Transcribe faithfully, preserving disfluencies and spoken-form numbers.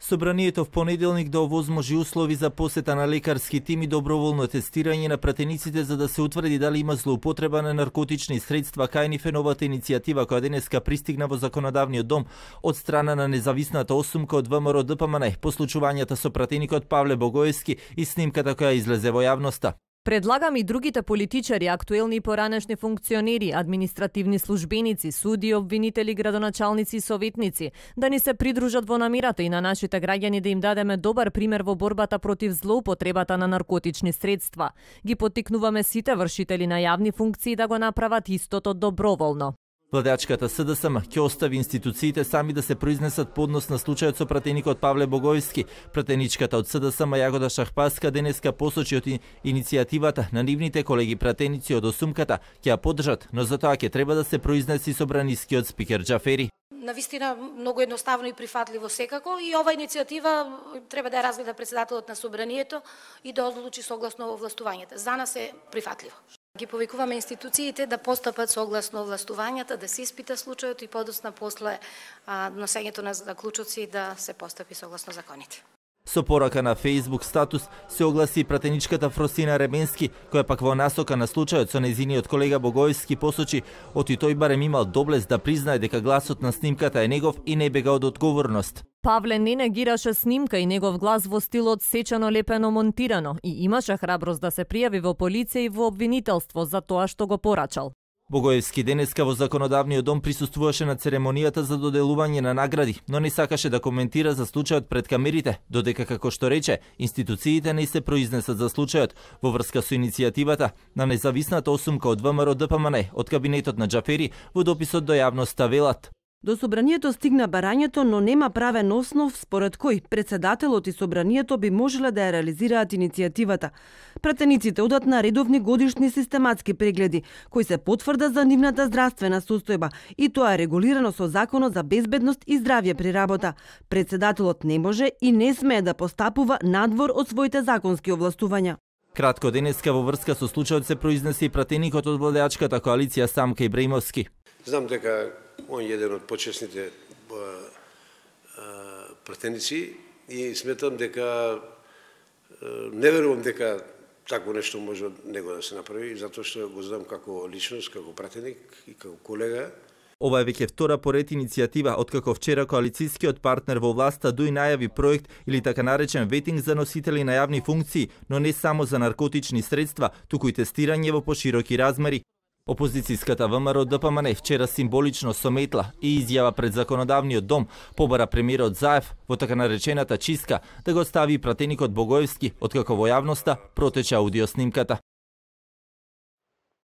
Собранието в понеделник да овозможи услови за посета на лекарски тим и доброволно тестирање на пратениците за да се утврди дали има злоупотреба на наркотични средства, кај е новата иницијатива која денеска пристигна во законодавниот дом од страна на независната осумка од ВМРО Д П М Н по случувањата со пратеникот Павле Богоевски и снимката која излезе во јавноста. Предлагам и другите политичари, актуелни и поранешни функционери, административни службеници, суди, обвинители, градоначалници и советници да ни се придружат во намирата и на нашите граѓани да им дадеме добар пример во борбата против злоупотребата на наркотични средства. Ги поттикнуваме сите вршители на јавни функции да го направат истото доброволно. Владеачката С Д С М ќе остави институциите сами да се произнесат по однос на случајот со пратеникот Павле Богоевски. Пратеничката од С Д С М Јагода Шахпаска денеска посочи од иницијативата на нивните колеги пратеници од осумката ќе ја поддржат, но за тоа ќе треба да се произнеси собранискиот спикер Џафери. Навистина многу едноставно и прифатливо секако и ова иницијатива треба да ја разгледа претседателот на собранието и да одлучи согласно овластувањата. За нас е прифатливо. Ги повикуваме институциите да постапат согласно овластувањата, да се испита случајот и подоцна после а, носењето на заклучоци да се постапи согласно законите. Со порака на Facebook статус се огласи пратеничката Фросина Ребенски, која пак во насока на случајот со незиниот колега Богоевски посочи оти тој барем имал доблест да признае дека гласот на снимката е негов и не бега од одговорност. Павле не негираше снимка и негов глас во стилот сечено лепено монтирано и имаше храброст да се пријави во полиција и во обвинителство за тоа што го порачал. Богоевски денеска во законодавниот дом присуствуваше на церемонијата за доделување на награди, но не сакаше да коментира за случајот пред камерите, додека како што рече, институциите не се произнесат за случајот во врска со иницијативата на независната осумка од ВМРО Д П М Н од кабинетот на Џафери во дописот до јавноста велат. До собранието стигна барањето, но нема правен основ според кој претседателот и собранието би можеле да ја реализираат иницијативата. Пратениците одат на редовни годишни систематски прегледи, кои се потврда за нивната здравствена состојба и тоа е регулирано со Законот за безбедност и здравје при работа. Претседателот не може и не смее да постапува надвор од своите законски овластувања. Кратко денеска во врска со случајот се произнесе и пратеникот од владеачката коалиција Самка Ибраимовски. Знам дека он е еден од почесните пратеници и сметам дека не верувам дека такво нешто може од него да се направи, затоа што го знам како личност, како пратеник и како колега. Ова е веќе втора поред иницијатива откако вчера коалицијскиот партнер во власта Дуј најави проект или така наречен ветинг за носители на јавни функции, но не само за наркотични средства, туку и тестирање во пошироки размери. Опозицијската ВМРО Д П М Н вчера символично со метла и изјава пред законодавниот дом побара премиерот Заев во така наречената чистка да го стави пратеникот Богоевски, откако во јавноста протече аудиоснимката.